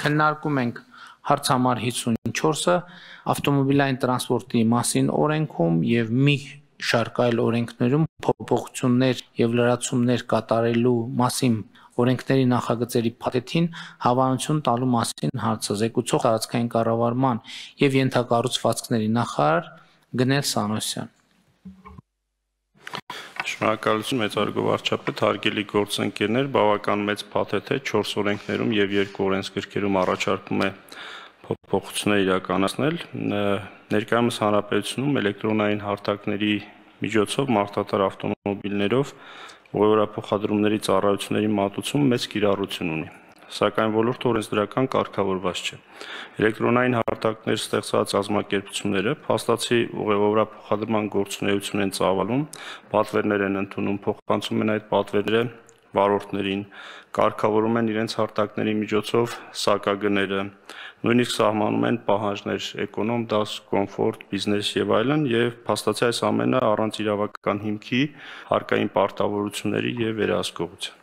Քննարկում ենք հարց համար 54-ը ավտոմոբիլային տրանսպորտի մասին օրենքում եւ մի շարք այլ օրենքներում փոփոխություններ եւ լրացումներ կատարելու մասին օրենքների նախագծերի փաթեթին հավանություն տալու մասին հարցը զեկուցող տարածքային կառավարման եւ ենթակառուցվածքների նախարար Գնել Սանոսյան։ Շնորհակալություն մեծարգո վարչապետ, հարգելի գործընկերներ, բավական մեծ փաթեթ է 4 օրենքներում եւ 2 օրենսգրքերում առաջարկում է փոփոխություններ իրականացնել։ Ներկայումս հանրապետությունում էլեկտրոնային հարթակների միջոցով մարդատար ավտոմոբիլներով ուղևորափոխադրումների ծառայությունների մատուցում մեծ կիրառություն ունի, սակայն ոլորտը օրենսդրական կարգավորված չէ։ Էլեկտրոնային հարթակներ ստեղծած կազմակերպությունները փաստացի ուղևորափոխադրման գործունեություն են ծավալում, պատվերներ են ընդունում, փոխանցում են այդ պատվերները վարորդներին, կարգավորում են իրենց հարթակների միջոցով սակագները, նույնիսկ սահմանում են պահանջներ էկոնոմ դաս, կոմֆորտ, բիզնես եւ այլն, եւ փաստացի այս ամենը առանց իրավական հիմքի, հարկային պարտավորությունների եւ վերահսկողության։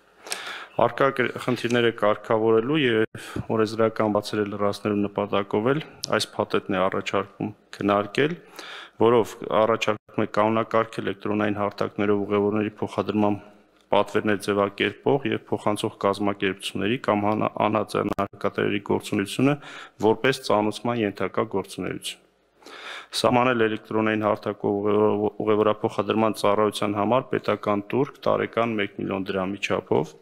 Արկա խնդիրները կարգավորելու եւ օրենսդրական բացերը լրացնելու նպատակով էլ այս փաթեթն է առաջարկում քննարկել, որով առաջարկում է կանոնակարգ էլեկտրոնային հարթակներով ուղևորների փոխադրման պատվերներ ձևակերպող եւ փոխանցող կազմակերպությունների կամ անհատականների գործունեությունը որպես ծանուցման ենթակա գործունեություն։ Սահմանել էլեկտրոնային հարթակով ուղևորափոխադրման ծառայության համար պետական տուրք տարեկան 1 միլիոն դրամի չափով,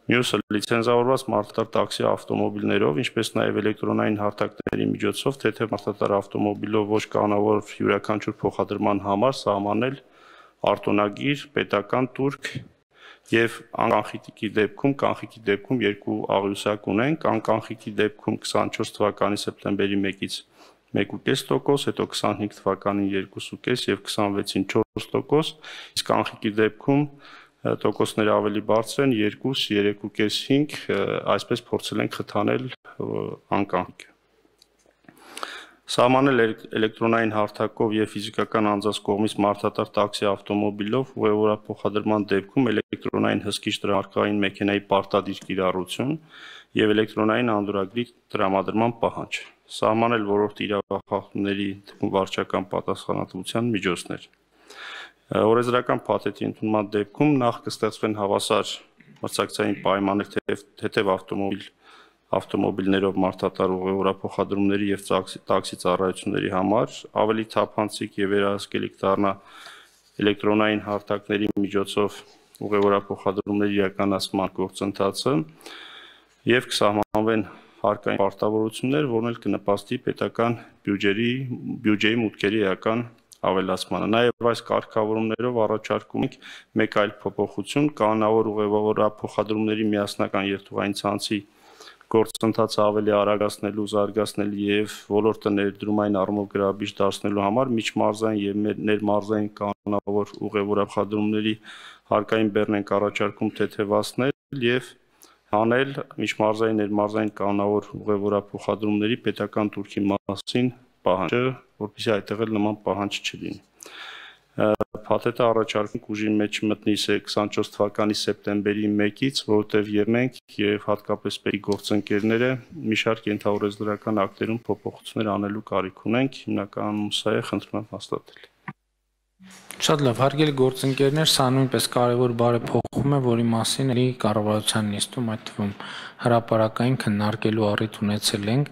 մյուսը լիցենզավորված մարդատար տաքսի ավտոմոբիլներով, ինչպես նաև էլեկտրոնային հարթակների միջոցով թեթև մարդատար ավտոմոբիլով ոչ կանոնավոր յուրաքանչյուր փոխադրման համար սահմանել արտոնագիր պետական տուրք եւ անկանխիկի դեպքում երկու աղյուսակ ունենք, անկանխիկի դեպքում 24 թվականի սեպտեմբերի 1-ից 1.5%, հետո 25 թվականին 2.5 եւ 26-ին 4%, իսկ կանխիկի դեպքում տոկոսները ավելի բարձր են 2, 3.5, 5, այսպես փորձել ենք խթանել անկանխիկը։ Սահմանել էլեկտրոնային հարթակով եւ ֆիզիկական անձանց կողմից մարդատար տաքսի ավտոմոբիլով ուղևորափոխադրման դեպքում էլեկտրոնային հսկիչ տրամարկային մեքենայի պարտադիր կիրառություն եւ էլեկտրոնային անդորրագրի տրամադրման պահանջ։ Սահմանել ոլորտի իրավախախտումների վարչական պատասխանատվության միջոցներ։ Օրենսդրական փաթեթի ընդունման դեպքում նախ կստեղծվեն հավասար մրցակցային պայմաններ թեթև ավտոմոբիլներով մարդատար ուղևորափոխադրումների եւ տաքսի ծառայությունների համար, ավելի թափանցիկ եւ վերահսկելի կդառնա էլեկտրոնային հարթակների միջոցով ուղևորափոխադրումների իրականացման գործընթացը եւ կսահմանվեն հարկային պարտավորություններ, որն էլ կնպաստի պետական բյուջեի մուտքերի էական ավելացմանը։ Նաև այս կարգավորումներով առաջարկում ենք մեկ այլ փոփոխություն կանոնավոր ուղևորափոխադրումների միասնական երթուղային ցանցի գործընթացը ավելի արագացնելու, զարգացնելու եւ ոլորտը ներդրումային առումով գրավիչ դարձնելու համար միջմարզային եւ ներմարզային կանոնավոր ուղևորափոխադրումների հարկային բեռն ենք առաջարկում թեթևացնել եւ հանել միջմարզային ներմարզային կանոնավոր ուղևորափոխադրումների պետական տուրքի մասին պահանջը, որպեսզի այդտեղ էլ նման պահանջ չլինի։ Փաթեթը առաջարկում ուժի մեջ մտնի 24 թվականի սեպտեմբերի 1-ից, որովհետև եւ մենք եւ հատկապես պետի գործընկերները մի շարք ենթաօրենսդրական ակտերում փոփոխություններ անելու կարիք ունենք, հիմնականում սա է, խնդրում եմ հաստատել։ Շատ լավ, հարգելի գործընկերներ, սա նույնպես կարևոր բարեփոխում է, որի մասին էլի կառավարության նիստում, այդ թվում հրապարակային քննարկելու առիթ ունեցել ենք։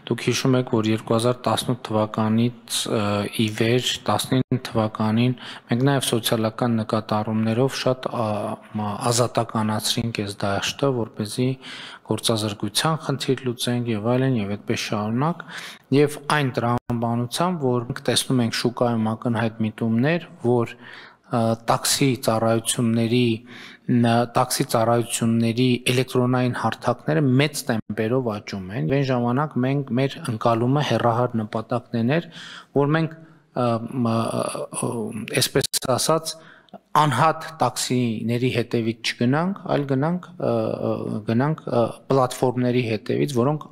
Դուք հիշում եք, որ 2018 թվականից ի վեր 19 թվականին մենք նաև սոցիալական նկատառումներով շատ ազատականացրինք այս դաշտը, որպեսզի գործազրկության խնդիր լուծենք եւ այլն եւ այդպես շարունակ եւ այն տրամաբանությամբ, որ մենք տեսնում ենք շուկայում ակնհայտ միտումներ, որ տաքսի ծառայությունների էլեկտրոնային հարթակները մեծ տեմպերով աճում են։ Այն ժամանակ մենք մեր ընկալումը հեռահար նպատակն էր, որ մենք այսպես ասած անհատ տաքսիների հետևից չգնանք, այլ գնանք պլատֆորմների հետևից, որոնք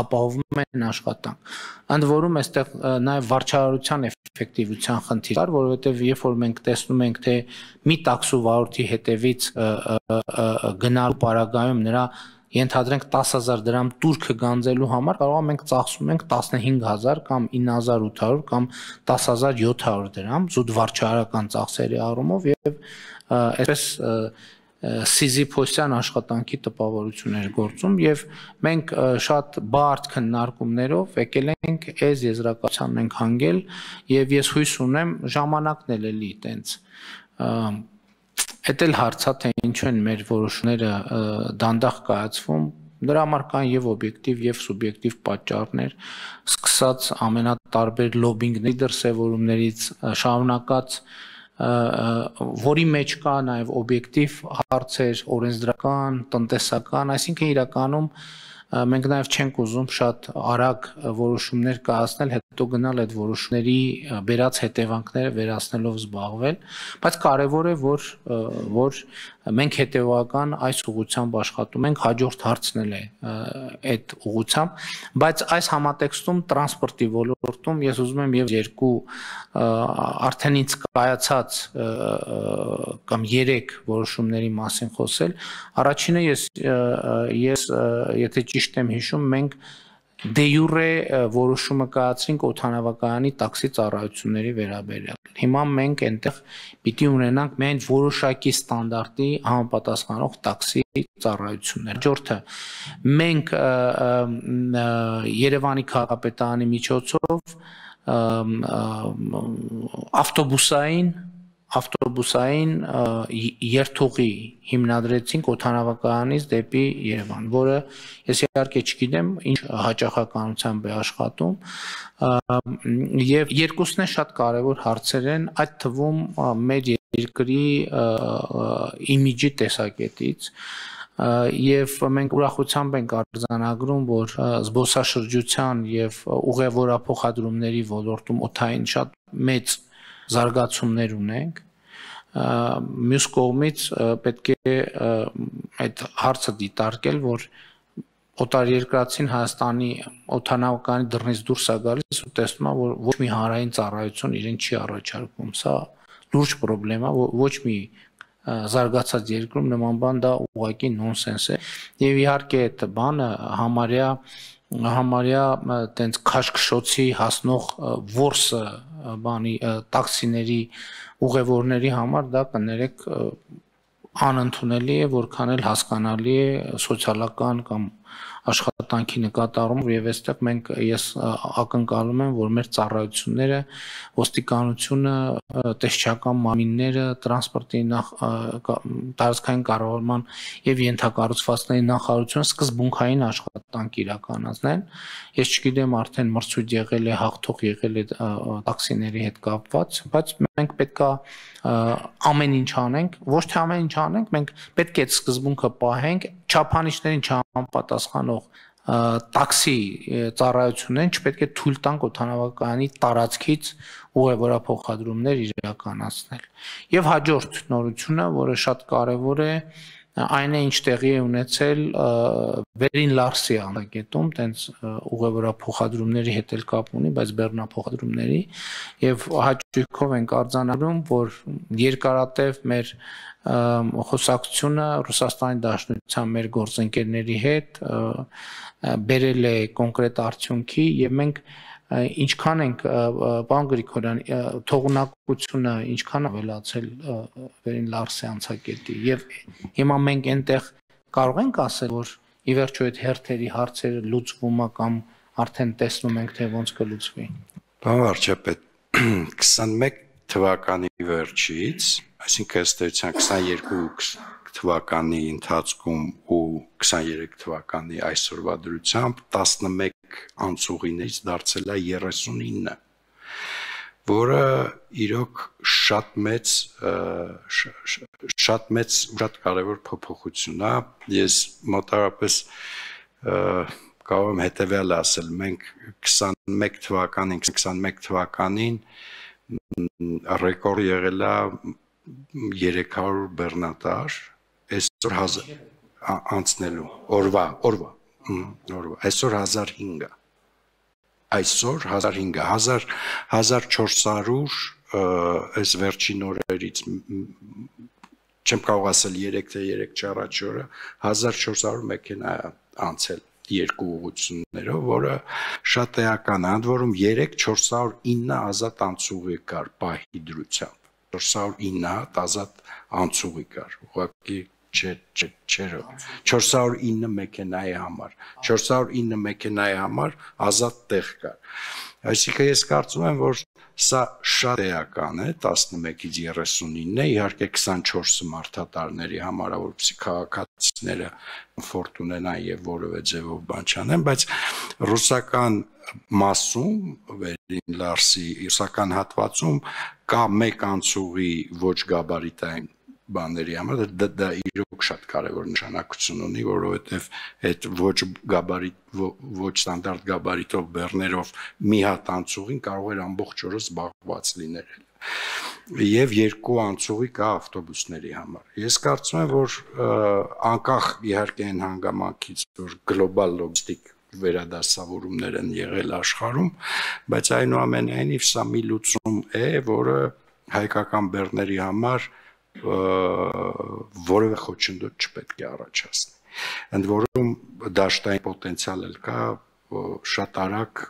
ապահովում են աշխատանք։ Ընդ որում այստեղ նաև վարչարարության էֆեկտիվության խնդիր կար, որովհետև երբ որ մենք տեսնում ենք, թե մի տաքսու վարորդի հետևից գնալու պարագայում նրա ենթադրենք 10,000 դրամ տուրքը գանձելու համար կարող է մենք ծախսում ենք 15,000 կամ 9,800 կամ 10,700 դրամ զուտ վարչարական ծախսերի առումով եւ այսպես Սիզիփոսյան աշխատանքի տպավորություններ գործում եւ մենք շատ բարդ քննարկումներով եկել ենք այս եզրակացությանն ենք հանգել եւ ես հույս ունեմ ժամանակն էլ էլի տենց Էդ էլ հարցա թե ինչու են մեր որոշումները դանդաղ կայացվում դրա համար կան եւ օբյեկտիվ եւ սուբյեկտիվ պատճառներ սկսած ամենատարբեր լոբինգների դրսևորումներից շարունակած որի մեջ կա նաեւ օբյեկտիվ հարցեր օրենսդրական տնտեսական այսինքն իրականում մենք նաև չենք ուզում շատ արագ որոշումներ կայացնել, հետո գնալ այդ որոշումների բերած հետևանքները վերացնելով զբաղվել, բայց կարևոր է, որ մենք հետևական այս ուղղությամբ աշխատում ենք, հաջորդ հարցն է այդ ուղղությամբ, բայց այս համատեքստում տրանսպորտի ոլորտում ես ուզում եմ եւ երկու արդեն ինձ կայացած կամ 3 որոշումների մասին խոսել, առաջինը ես եթե ճիշտ եմ հիշում, մենք դե յուրե որոշումը կայացրինք օդանավակայանի տաքսի ծառայությունների վերաբերյալ։ Հիմա մենք այնտեղ պիտի ունենանք միայն որոշակի ստանդարտի համապատասխանող տաքսի ծառայություններ։ Հաջորդը մենք Երևանի քաղաքապետարանի միջոցով ավտոբուսային երթուղի հիմնադրեցինք օդանավակայանից դեպի Երևան, որը ես իհարկե չգիտեմ ինչ հաճախականությամբ է աշխատում, եւ երկուսն է շատ կարեւոր հարցեր են, այդ թվում մեր երկրի իմիջի տեսակետից եւ մենք ուրախությամբ ենք արձանագրում, որ զբոսաշրջության եւ ուղևորափոխադրումների ոլորտում օդային շատ մեծ զարգացումներ ունենք մյուս կողմից պետք է այդ հարցը դիտարկել որ օտարերկրացին Հայաստանի օդանավակայանի դռնից դուրս է գալիս ու տեսնում է որ ոչ մի հանրային ծառայություն իրեն չի առաջարկում սա լուրջ խնդրեմ է ոչ մի զարգացած երկրում նման բան դա ուղղակի նոնսենս է եւ իհարկե այդ բանը համարյա տենց քաշքշոցի հասնող որսը բանի տաքսիների ուղևորների համար դա կներեք անընդունելի է որքան էլ հասկանալի է սոցիալական կամ աշխատանքի նկատառումով եւ այստեղ մենք ես ակնկալում եմ որ մեր ծառայությունները ոստիկանությունը տեսչական մարմինները տրանսպորտի տարածքային կառավարման եւ ենթակառուցվածքների նախարարությունը սկզբունքային աշխատանք իրականացնեն ես չգիտեմ արդեն մրցույթ եղել է հաղթող եղել է տաքսիների հետ կապված բայց մենք պետքա ամեն ինչ անենք ոչ թե ամեն ինչ անենք մենք պետք է այդ սկզբունքը պահենք չափանիշներին չհամապատասխանող տաքսի ծառայություններին չպետք է թույլ տանք օդանավակայանի տարածքից ուղևորափոխադրումներ իրականացնել եւ հաջորդ նորությունը որը շատ կարեւոր է այն է ինչ տեղի է ունեցել Վերին Լարսի անագետում տենց ուղևորափոխադրումների հետ էլ կապ ունի բայց բեռնափոխադրումների եւ հաճույքով ենք արձանագրում որ երկարատև մեր խոսակցությունը Ռուսաստանի Դաշնության մեր գործընկերների հետ բերել է կոնկրետ արդյունքի եւ մենք ինչքան ենք պարոն Գրիգորյան թողունակությունը ինչքան ավելացել Վերին Լարսի անցակետի եւ հիմա մենք այնտեղ կարող ենք ասել որ ի վերջո այդ հերթերի հարցերը լուծվում է կամ արդեն տեսնում ենք թե ոնց կլուծվի Պարոն վարչապետ 21 թվականի վերջից այսինքն ըստ էության 22 թվականի ընթացքում ու 23 թվականի այսօրվա դրությամբ 11 անցուղիներից դարձել է 39 որը իրոք շատ կարևոր փոփոխություն է ես մոտավորապես կարող եմ հետևյալը ասել մենք 21 թվականին ռեկորդ եղել է 300 բեռնատար այսօր 1000 անցնելու օրվա այսօր 1500 այսօր 1500 1400 այս վերջին օրերից չեմ կարող ասել 3 թե 3 չառաջ օրը 1400 մեքենա անցել երկու ուղղություններով, որը շատ էական է, ընդ որում 409 ազատ անցուղի կար պահի դրությամբ, 409 հատ ազատ անցուղի կար, ուղղակի չէր 409 մեքենայի համար, 409 մեքենայի համար ազատ տեղ կար, այսինքն ես կարծում եմ, որ սա շատ էական է 11-ից 39-ը, իհարկե 24-ը մարդատարների համար, որպեսզի քաղաքացիները կոմֆորտ ունենան եւ որևէ ձևով բան չանեն, բայց ռուսական մասում, Վերին Լարսի ռուսական հատվածում կա մեկ անցուղի ոչ գաբարիտային բաների համար, դա իրոք շատ կարևոր նշանակություն ունի, որովհետև այդ ոչ ստանդարտ գաբարիտով բեռներով մի հատ անցուղին կարող էր ամբողջ օրը զբաղված լինել։ Եվ երկու անցուղի կա ավտոբուսների համար։ Ես կարծում եմ, որ անկախ իհարկե այն հանգամանքից, որ գլոբալ լոգիստիկ վերադասավորումներ են եղել աշխարհում, բայց այնուամենայնիվ սա մի լուծում է, որը հայկական բեռների համար որևէ խոչընդոտ չպետք է առաջացնի։ Ընդ որում դաշտային պոտենցիալ էլ կա շատ արագ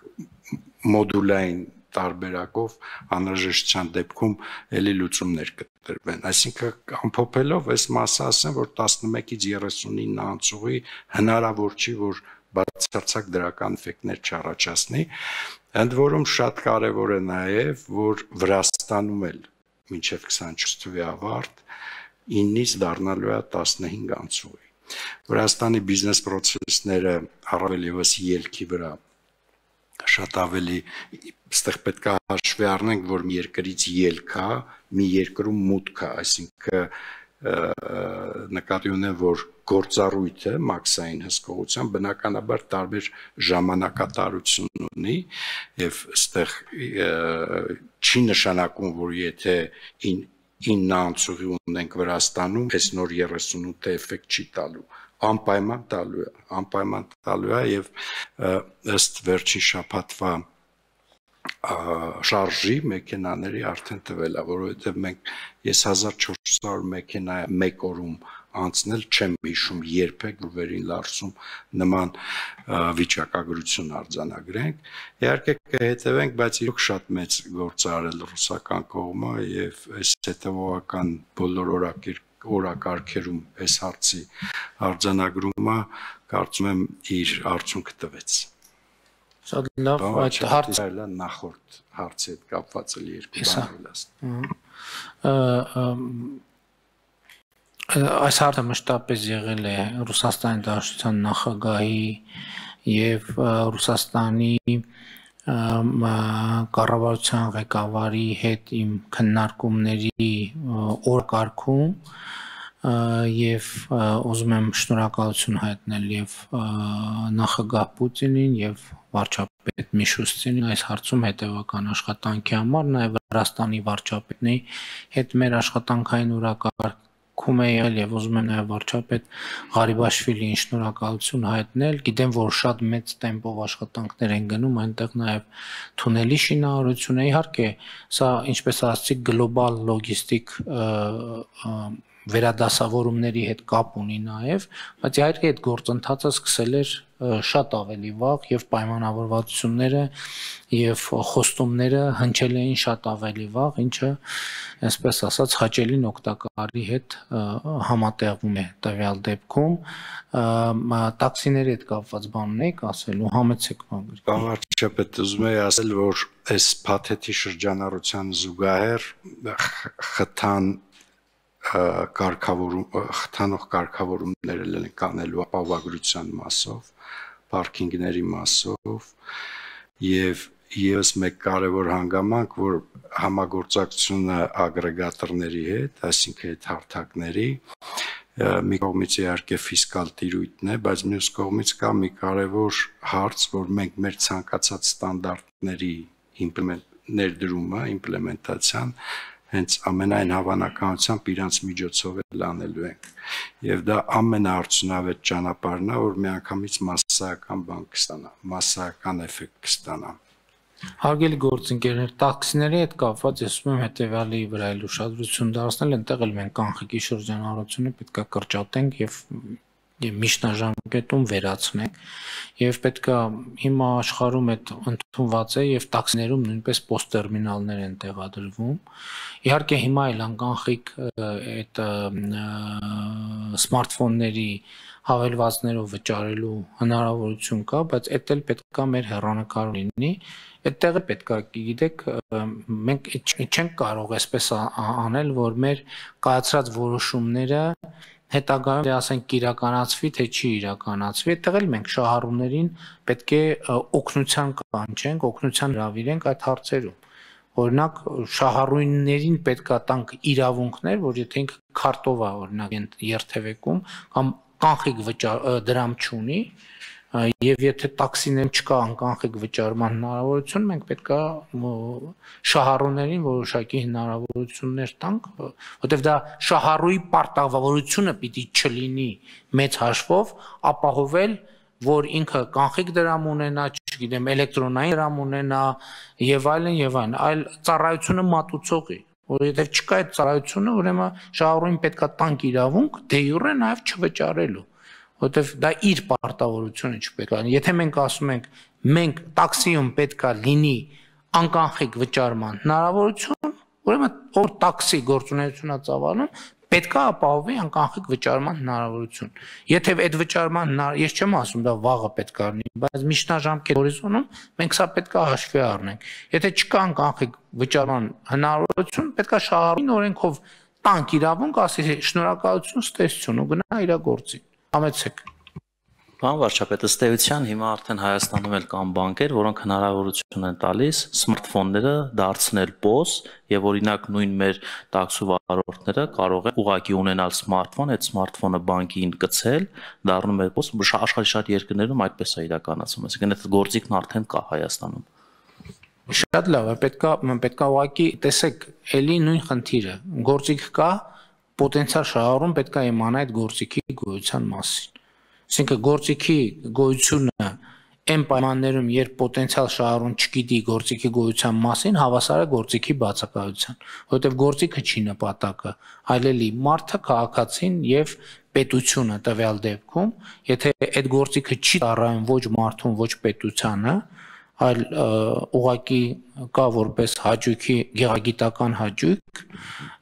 մոդուլային տարբերակով անհրաժեշտության դեպքում էլի լուծումներ կտրվեն։ Այսինքն ամփոփելով այս մասը ասեմ, որ 11-ից 39 անցուղի հնարավոր չի, որ բացարձակ դրական էֆեկտներ չառաջացնի։ Ընդ որում շատ կարևոր է նաև, որ Վրաստանում էլ մինչև 24 թվականի ավարտ 9-ից դառնալու է 15 անցուղի։ Վրաստանի բիզնես պրոցեսները առավել եւս ելքի վրա շատ ավելի այստեղ պետք է հաշվի առնենք, որ մի երկրից ելք է, մի երկրում մուտք է, այսինքն նկատի ունեմ, որ գործառույթը մաքսային հսկողության բնականաբար տարբեր ժամանակատարություն ունի եւ այստեղ չի նշանակում, որ եթե 9 անցուղի ունենք Վրաստանում, այս նոր 38-ը էֆեկտ չի տալու, անպայման տալու է եւ ըստ վերջին շաբաթվա շարժի մեքենաների արդեն տվել է, որովհետև ես 1400 մեքենա մեկ օրում անցնել չեմ հիշում երբեք, որ Վերին Լարսում նման վիճակագրություն արձանագրենք։ Իհարկե կհետևենք, բայց իրոք շատ մեծ գործ արել ռուսական կողմը եւ այս հետեւողական բոլոր օրակարգերում այս հարցի արձանագրումը կարծում եմ իր արդյունքը տվեց։ Շատ լավ, այդ հարցը նախորդ հարցի հետ կապված էլ երկու բան ասեմ։ Այս հարցը մշտապես եղել է Ռուսաստանի Դաշնության նախագահի եւ Ռուսաստանի կառավարության ղեկավարի հետ իմ քննարկումների օրակարգում եւ ուզում եմ շնորհակալություն հայտնել եւ նախագահ Պուտինին եւ վարչապետ Միշուստինին այս հարցում հետևական աշխատանքի համար, նաեւ Վրաստանի վարչապետի հետ մեր աշխատանքային օրակարգում է եղել եւ ուզում եմ նաեւ վարչապետ Ղարիբաշվիլիին շնորհակալություն հայտնել։ Գիտեմ, որ շատ մեծ տեմպով աշխատանքներ են գնում, այնտեղ նաեւ թունելի շինարարություն է, իհարկե, սա ինչպես ասացի, գլոբալ լոգիստիկ վերադասավորումների հետ կապ ունի նաև, բայց իհարկե այդ գործընթացը սկսել էր շատ ավելի վաղ եւ պայմանավորվածությունները եւ խոստումները հնչել էին շատ ավելի վաղ, ինչը, այսպես ասած, հաճելին օգտակարի հետ համատեղվում է տվյալ դեպքում։ Տաքսիների հետ կապված բան ունեիք ասելու, համեցեք բան։ Վարչապետ, ուզում եմ ասել, որ այս փաթեթի շրջանառության զուգահեռ խթանող կարգավորումներ են կանելու ապահովագրության մասով, պարքինգների մասով եւ եւս մեկ կարևոր հանգամանք, որ համագործակցությունը ագրեգատորների հետ, այսինքն այդ հարթակների, մի կողմից իհարկե ֆիսկալ տիրույթն է, բայց մյուս կողմից կա մի կարևոր հարց, որ մենք մեր ցանկացած ստանդարտների ներդրումը, իմպլեմենտացիան հենց ամենայն հավանականությամբ իրանց միջոցով էլ անելու ենք։ Եվ դա ամենաարդյունավետ ճանապարհն է, որ միանգամից մասսայական բան կստանա, մասսայական էֆեկտ կստանա։ Հարգելի գործընկերներ, տաքսիների հետ կապված ես ուզում եմ հետևյալի վրա էլ ուշադրություն դարձնել, այնտեղ էլ մենք կանխիկի շրջանառությունը պետք է կրճատենք եւ միջնաժամկետում վերացնենք եւ պետքա հիմա աշխարհում այդ ընդունված է եւ տաքսիներում նույնպես պոստտերմինալներ են տեղադրվում։ Իհարկե հիմա էլ անկանխիկ այդ սմարթֆոնների հավելվածներով վճարելու հնարավորություն կա, բայց դա էլ պետքա մեր հեռանկարում լինի։ Այդտեղ պետքա, գիտեք, մենք չենք կարող այսպես անել, որ մեր կայացրած որոշումները հետագայում ասենք իրականացվի, թե չի իրականացվի, այդտեղ էլ մենք շահառուներին պետք է օգնության կանչենք, օգնության հրավիրենք այդ հարցերում։ Օրինակ շահառուներին պետքա տանք իրավունքներ, որ եթե ինքը քարտով է օրինակ երթևեկում կամ կանխիկ դրամ չունի, եւ եթե տաքսիներում չկա անկանխիկ վճարման հնարավորություն, մենք պետքա շահառուներին որոշակի հնարավորություններ տանք, որտեղ դա շահառուի պարտավորությունը պիտի չլինի մեծ հաշվով ապահովել, որ ինքը կանխիկ դրամ ունենա, չգիտեմ, էլեկտրոնային դրամ ունենա եւ այլն, այլ ծառայությունը մատուցողի, որովհետեւ չկա այդ ծառայությունը, ուրեմն շահառուին պետքա տանք իրավունք դե յուրե նաեւ չվճարելու, որովհետեւ դա իր պարտավորությունը չպետք է լինի։ Եթե մենք ասում ենք, մենք տաքսիում պետքա լինի անկանխիկ վճարման հնարավորություն, ուրեմն ով տաքսի գործունեությունա ծավալում պետքա ապահովի անկանխիկ վճարման հնարավորություն։ Եթե այդ վճարման ես չեմ ասում դա վաղը պետքա լինի, բայց միջնաժամկետ հորիզոնում մենք սա պետքա հաշվի առնենք։ Եթե չկա անկանխիկ վճարման հնարավորություն, պետքա շահառուին օրենքով տանք իրավունք, ասի շնորհակալություն, ստեսություն ու գնա իր գործին։ Համեցեք։ Պարոն վարչապետ, ըստ էության հիմա արդեն Հայաստանում էլ կան բանկեր, որոնք հնարավորություն են տալիս սմարթֆոնները դարձնել POS եւ օրինակ նույն մեր տաքսու վարորդները կարող են ուղղակի ունենալ սմարթֆոն, այդ սմարթֆոնը բանկին գցել, դառնում է POS, աշխարհի շատ երկրներում այդպես է իրականացվում, այսինքն այդ գործիքն արդեն կա Հայաստանում։ Շատ լավ է, պետքա ուղղակի տեսեք, էլի նույն խնդիրը, գործիք կա, պոտենցիալ շահառուն պետքա իմանա այդ գործիքի գոյության մասին։ Այսինքն գործիքի գոյությունը այն պայմաններում, երբ պոտենցիալ շահառուն չգիտի գործիքի գոյության մասին, հավասար է գործիքի բացակայության, որովհետև գործիքը չի նպատակը, այլ էլի մարդը, քաղաքացին եւ պետությունը տվյալ դեպքում, եթե այդ գործիքը չի ծառայում ոչ մարդուն, ոչ պետությանը, այլ ուղղակի կա որպես հաճույքի գեղագիտական հաճույք,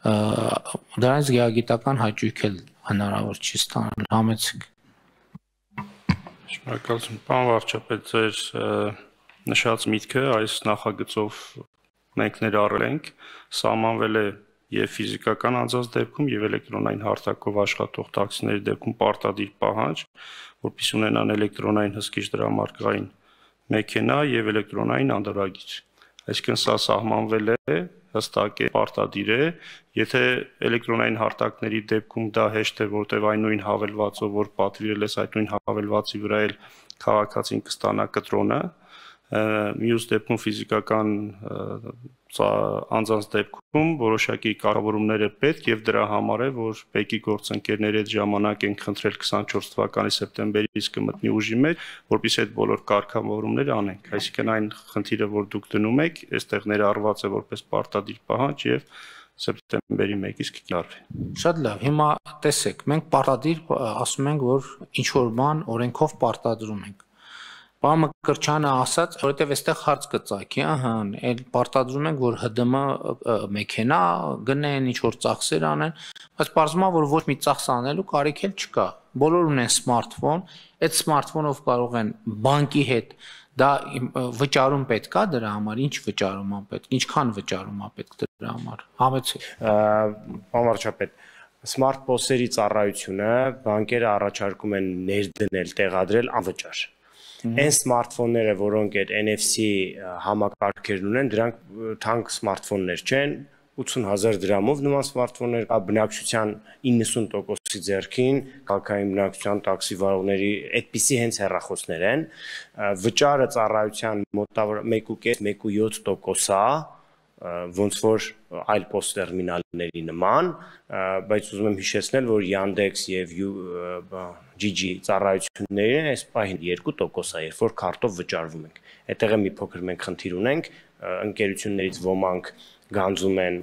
դրանից գեղագիտական հաճույք էլ հնարավոր չի ստանալ, համեցեք։ Շնորհակալություն, պարոն վարչապետ, ձեր նշած միտքը այս նախագծով մենք ներառել ենք, սահմանվել է եւ ֆիզիկական անձանց դեպքում եւ էլեկտրոնային հարթակով աշխատող տաքսիների դեպքում պարտադիր պահանջ, որպեսզի ունենան էլեկտրոնային հսկիչ դրամարկղային մեքենա եւ էլեկտրոնային անդրագիր։ Այսինքն սա սահմանվել է, հստակ է, պարտադիր է, եթե էլեկտրոնային հարթակների դեպքում դա հեշտ է, որտեղ այն նույն հավելվածով, որ պատվիրել ես այդ նույն հավելվածի վրա էլ քաղաքացին կստանա կտրոնը, մյուս դեպքում ֆիզիկական անձանց դեպքում որոշակի կառավարումներ է պետք եւ դրա համար է, որ ՊԵԿ-ի գործընկերների հետ ժամանակ են խնդրել 24 թվականի սեպտեմբերից կմտնի ուժի մեջ, որպեսզի այդ բոլոր կարգավորումները անենք։ Այսինքն այն խնդիրը, որ դուք դնում եք, այստեղ ներառված է որպես պարտադիր պահանջ եւ սեպտեմբերի 1-ից կկիրառվի։ Շատ լավ, հիմա տեսեք, մենք պարտադիր ասում ենք, որ ինչ որ բան օրենքով պարտադրում ենք։ Պարոն Մկրտչյանը ասաց, որովհետև այստեղ հարց կծագի, այլ պարտադրում ենք, որ ՀԴՄ մեքենա գնեն, ինչ որ ծախսեր անեն, բայց պարզվում է, որ ոչ մի ծախս անելու կարիք էլ չկա։ Բոլոր ունեն սմարթֆոն, այդ սմարթֆոնով կարող են բանկի հետ դա վճարում պետք է դրա համար, ինչ վճարում է պետք, ինչքան վճարում է պետք դրա համար։ Համեցեք։ Պարոն վարչապետ, Smart POS-երի ծառայությունը բանկերը առաջարկում են ներդնել, տեղադրել անվճար։ Այն սմարթֆոնները, որոնք այդ NFC համակարգերն ունեն, դրանք թանկ սմարթֆոններ չեն, 80,000 դրամով նման սմարթֆոններ կա բնակչության 90%-ի ձեռքին, քաղաքային բնակչության տաքսի վարողների այդպիսի հենց հեռախոսներ են, վճարը ծառայության մոտավոր 1.5-1.7% է, ոնց որ այլ post տերմինալների նման, բայց ուզում եմ հիշեցնել, որ Yandex եւ GG ծառայություններին այս պահին 2% է, երբ որ քարտով վճարվում ենք։ Այդտեղ մի փոքր մենք խնդիր ունենք, ընկերություններից ոմանք գանձում են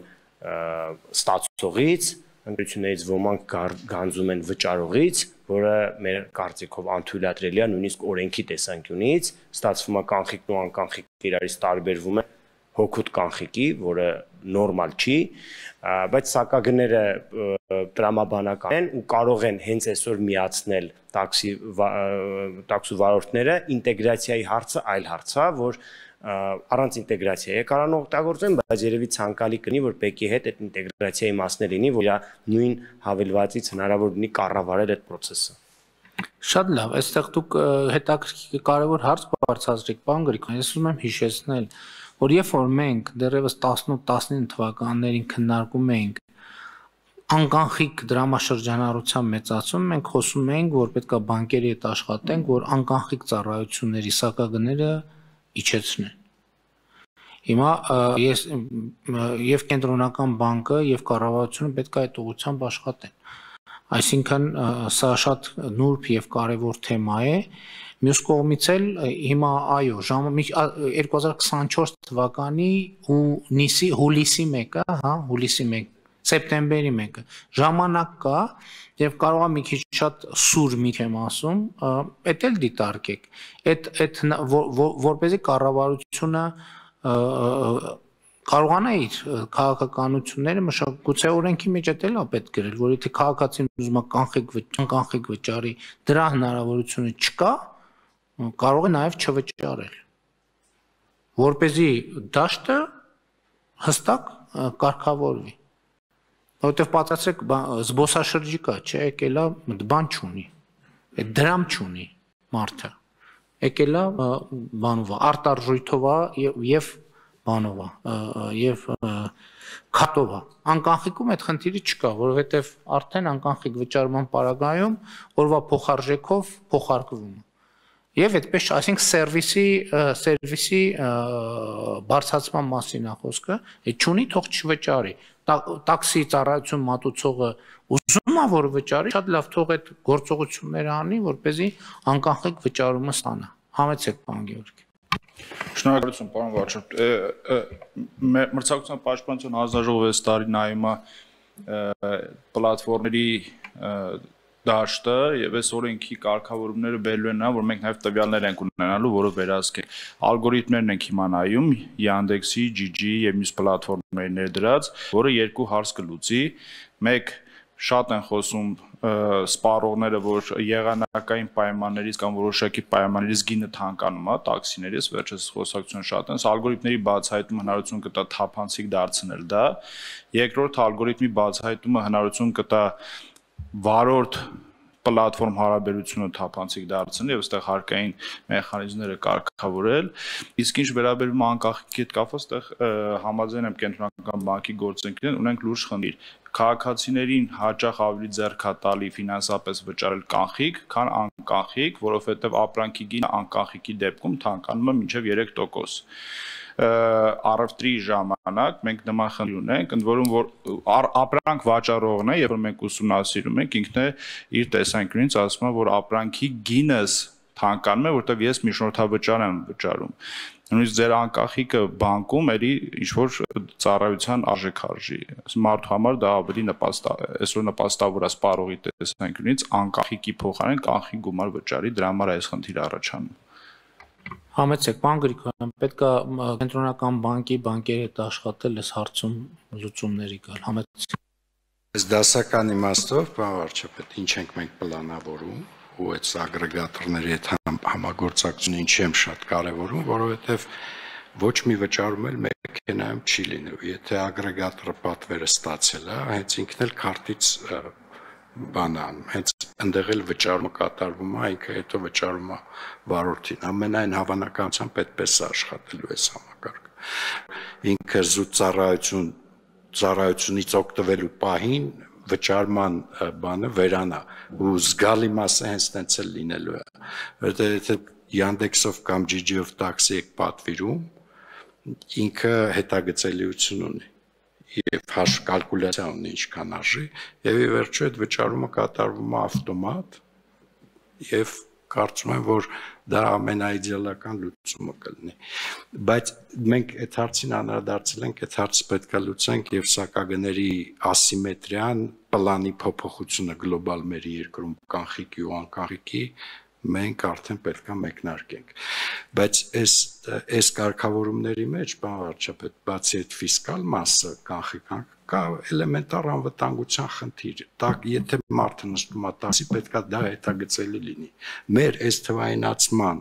ստացողից, ընկերություններից ոմանք գանձում են վճարողից, որը մեր կարծիքով անթույլատրելի է նույնիսկ օրենքի տեսանկյունից, ստացվում է կանխիկն ու անկանխիկը իրարից տարբերվում են հոգուտ կանխիկի, որը նորմալ չի, բայց սակագները տրամաբանական են ու կարող են հենց այսօր միացնել տաքսի վարորդները, ինտեգրացիայի հարցը այլ հարց է, որ առանց ինտեգրացիայի կարան օգտագործեն, բայց երևի ցանկալի կլինի, որ ՊԵԿ-ի հետ այդ ինտեգրացիայի մասն լինի, որ իր նույն հավելվածից հնարավոր լինի կառավարել այդ process-ը։ Շատ լավ, այստեղ դուք հետաքրքիր կարևոր հարց բարձրացրիք, պարոն Գրիգորյան, ես ուզում եմ հիշեցնել, որ երբ որ մենք դեռևս 18-19 թվականներին քննարկում էինք անկանխիկ դրամաշրջանառության մեծացում, մենք խոսում էինք, որ պետք է բանկերի հետ աշխատենք, որ անկանխիկ ծառայությունների սակագները իջեցնեն։ Հիմա ես եւ կենտրոնական բանկը եւ կառավարությունը պետք է այդ ուղղությամբ աշխատեն։ Այսինքն սա շատ նուրբ եւ կարեւոր թեմա է։ Մյուս կողմից էլ հիմա այո, 2024 թվականի հուլիսի 1-ը, հա, հուլիսի 1, սեպտեմբերի 1-ը ժամանակ կա եւ կարող է մի քիչ շատ սուր մի եմ ասում, էդ էլ դիտարկեք։ Այդ որպեսզի կառավարությունը կարողանա իր քաղաքականությունները մշակութի օրենքի մեջ էլ է պետք գրել, որ եթե քաղաքացին ուզում է կանխիկ վճարի, դրա հնարավորությունը չկա, կարող է նաև չվճարել, որպեսզի դաշտը հստակ կարգավորվի, որովհետև պատասխանեք զբոսաշրջիկա, չէ, եկել է բան չունի, այդ դրամ չունի մարդը, եկել է բանով, արտարժույթով եւ բանով, եւ քարտով, անկախիկում այդ խնդիրը չկա, որովհետև արդեն անկախիկ վճարման պարագայում օրվա փոխարժեքով փոխարկվում է։ Եվ այդպես, այսինքն սերվիսի բարձրացման մասին է խոսքը, այդ չունի թող չվճարի։ Տաքսի ծառայություն մատուցողը ուզում է որ վճարի, շատ լավ թող այդ գործողությունները անի, որպեսզի անկախիկ վճարումը ստանա։ Համեցեք, պարոն Գևորգ։ Շնորհակալություն, պարոն վարչապետ։ Մրցակցության պաշտպանության հանձնաժողովը այս տարի նայում է պլատֆորմերի դաշտը եւ այս օրենքի կարգավորումները բերելու են նա, որ մենք նաեւ տվյալներ ենք ունենալու, որը վերահսկենք։ Ալգորիթմներն ենք հիմա նայում, Yandex-ի, GG եւ մյուս պլատֆորմների ներդրած, որը երկու հարց կլուծի։ Մեկ շատ են խոսում սպառողները, որ եղանակային պայմաններից կամ որոշակի պայմաններից գինը թանկանում է, տաքսիներից, վերջերս խոսակցություն շատ են, ալգորիթմների բացահայտումը հնարավորություն կտա թափանցիկ դարձնել դա։ Երկրորդ ալգորիթմի բացահայտումը հնարավորություն կտա վարորդ պլատֆորմ հարաբերությունը թափանցիկ դարձնել եւ այստեղ հարկային մեխանիզմները կարգավորել։ Իսկ ինչ վերաբերում է անկախքի հետ կապված, այստեղ համաձայն եմ կենտրոնական բանկի գործընկերներին ունենք լուրջ խնդիր։ Քաղաքացիներին հաճախ ավելի ձեռքատալի ֆինանսապես վճարել կանխիկ, քան անկանխիկ, որովհետեւ ապրանքի գինը անկանխիկի դեպքում թանկանում է մինչեւ 3%։ Առևտրի ժամանակ մենք նման խնդիր ունենք, ընդ որում որ ապրանք վաճառողն է, երբ որ մենք ուսումնասիրում ենք, ինքն է իր տեսանկյունից ասում է, որ ապրանքի գինս թանկանում է, որտեղ ես մի շնորհավճար եմ վճարում։ Նույնիսկ ձեր անկախիկը բանկում էլի ինչ որ ծառայության արժեքարժի։ Մարդու համար դա ավելի այսօր նպաստավոր է սպառողի տեսանկյունից անկախիկի փոխարեն կանխիկ գումար վճարի, դրա համար այս խնդիրը առաջանում։ Համեցեք, պարոն Գրիգորյան, պետք է կենտրոնական բանկերի հետ աշխատել այս հարցում լուծումների գալ։ Համեցեք։ Այս դասական իմաստով, պարոն վարչապետ, ինչ ենք մենք պլանավորում, ու այդ ագրեգատորների հետ համագործակցությունը ինչի եմ շատ կարևորում, որովհետև ոչ մի վճարում էլ մեքենայում չի լինելու։ Եթե ագրեգատորը պատվերը ստացել է, հենց ինքն էլ քարտից բանան, հենց ընդեղ էլ վճարումը կատարվում է, ինքը հետո վճարում է վարորդին։ Ամենայն հավանականությամբ այդպես է աշխատելու այս համակարգը։ Ինքը զուտ ծառայությունից օգտվելու պահին վճարման բանը վերանա ու զգալի մասը հենց տենց էլ լինելու է։ Որտեղ եթե Yandex-ով կամ GG-ով տաքսի եք պատվիրում, ինքը հետագծելիություն ունի եւ կալկուլյացիա ունի ինչքան արժի եւ ի վերջո այդ վճարումը կատարվում է ավտոմատ եւ կարծում եմ որ դա ամենաիդեալական լուծումը կլինի բայց մենք այդ հարցին անդրադարձել ենք այդ հարցը պետք է լուծենք եւ սակագների ասիմետրիան պլանի փոփոխությունը գլոբալ մեր երկրում կանխիկի ու անկանխիկի մենք արդեն պետք է մեկնարկենք բայց այս կարգավորումների մեջ բան վարչապետ բացի այդ ֆիսկալ մասը կանխիկան կա էլեմենտար անվտանգության խնդիր եթե մարդը նստում է տաքսի պետք է դա հետագծելի լինի մեր այս թվայինացման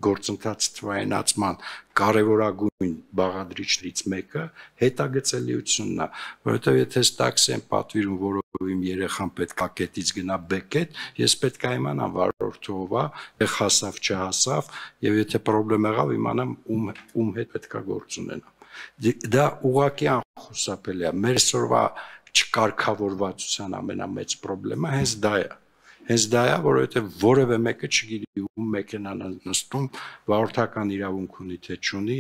գործընթաց թվայինացման կարևորագույն բաղադրիչներից մեկը հետագծելիությունն է, որովհետև եթե տաքսի եմ պատվիրում, որով իմ երեխան պետք է կետից գնա բեկետ, ես պետք է իմանամ վարորդը ով է, հասավ, չհասավ, եւ եթե խնդրեմ եղավ, իմանամ ում հետ պետք է գործ ունենամ։ Դա ուղղակի անխուսափելի է։ Մեր այսօրվա չկարգավորվածության ամենամեծ խնդիրը հենց դա է։ Հենց դա է, որովհետև որևէ մեկը չգիտի ում մեքենան նստում, վարորդական իրավունք ունի թե չունի,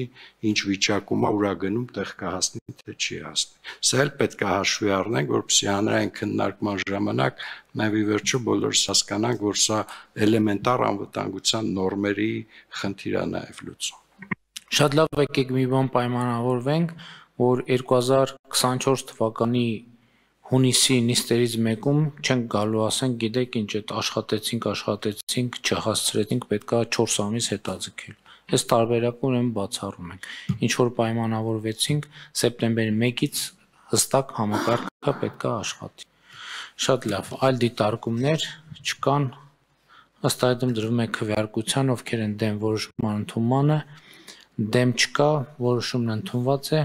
ինչ վիճակում է, ուր է գնում, տեղ կհասնի թե չի հասնի։ Սա էլ պետք է հաշվի առնենք, որպեսզի հանրային քննարկման ժամանակ նաև ի վերջո բոլորս հասկանանք, որ սա էլեմենտար անվտանգության նորմերի խնդիր է նաև լուծում։ Շատ լավ եկեք մի բան պայմանավորվենք, որ 2024 թվականի հունիսի նիստերից մեկում չենք գալու ասենք, գիտեք ինչ, այդ աշխատեցինք, չհասցրեցինք, պետքա 4 ամիս հետաձգել։ Այս տարբերակը ուրեմն բացառում ենք։ Ինչ որ պայմանավորվեցինք, սեպտեմբերի 1-ից հստակ համակարգը պետքա աշխատի։ Շատ լավ, այլ դիտարկումներ չկան, ըստ այդմ դրվում է քվեարկության, ովքեր են դեմ որոշման ընդունմանը, դեմ չկա, որոշումն ընդունված է։